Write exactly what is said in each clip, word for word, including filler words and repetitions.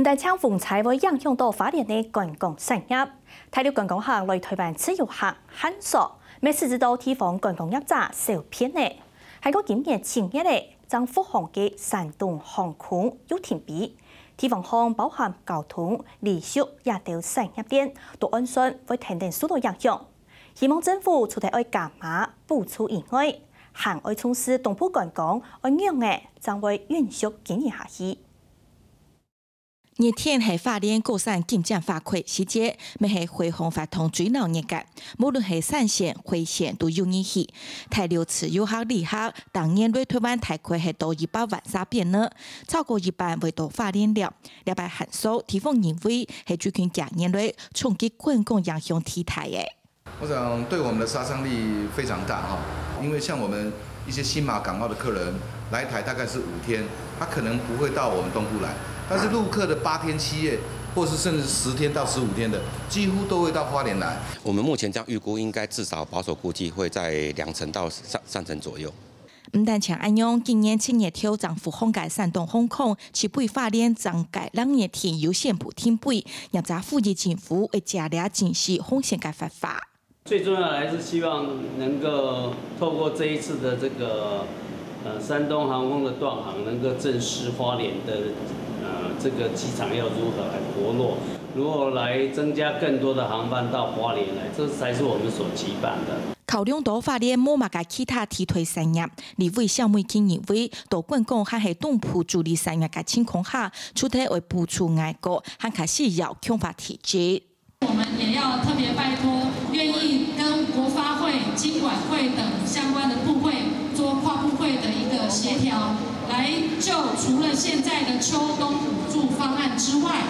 毋單淨風災會影響到花蓮个觀光產業，大陸觀光客來臺灣自由行、限縮，乜使得到地方觀光業者受騙呢。還過今年七月仔，正復航个山東航空又停飛，地方項包含交通、旅宿這兜產業鏈，都按算會跈等受到影響。希望政府除忒愛加碼補助以外，還愛重視東部觀光，愛仰仔正會延續經營下去。 熱天係花蓮各產景點花季時節，乜係花紅活動最鬧熱个。無論係山線、海線都有人去。大陸自由行旅客逐年來臺灣大概係到一百萬儕邊呢，超過一半會到花蓮尞。這擺限縮，地方認為係最近幾年來衝擊觀光影響最大个。 我想對我們的殺傷力非常大哈，因為像我們一些新馬、港澳的客人來台大概是五天，他可能不會到我們東部來，但是陸客的八天、七夜，或是甚至十天到十五天的，幾乎都會到花蓮來。我們目前這樣預估，應該至少保守估計會在兩成到三三成左右。 毋單淨恁樣，今年七月頭正復航个山東航空，在飛花蓮正該兩日天有線報停飛，業者呼籲政府愛借這正視航線个活化。最重要的還是希望能夠透過這一次的這個呃山東航空的斷航，能夠正視花蓮的呃這個機場要如何來活絡，如何來增加更多的航班到花蓮來，這才是我們所期盼的。 考量到花蓮無麼个其他替代產業，立委蕭美琴認為，到觀光還係東部主力產業个情況下，除忒愛補助外國，還較需要強化體制。我們也要特別拜託願意跟國發會、金管會等相關的部會做跨部會的一個協調，來就除了現在的秋冬補助方案之外，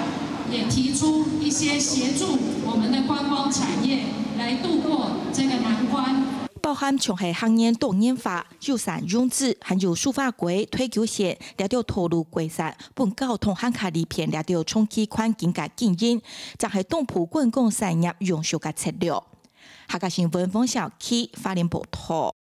也提出一些協助我們的觀光產業來度過這個難關。 包含像係客源多元化、友善融資，還有蘇花改、退休線這兜道路改善，分交通還較利便這兜長期環境个經營，正係東部觀光產業永續个策略。客家新聞黃小琪花蓮報導。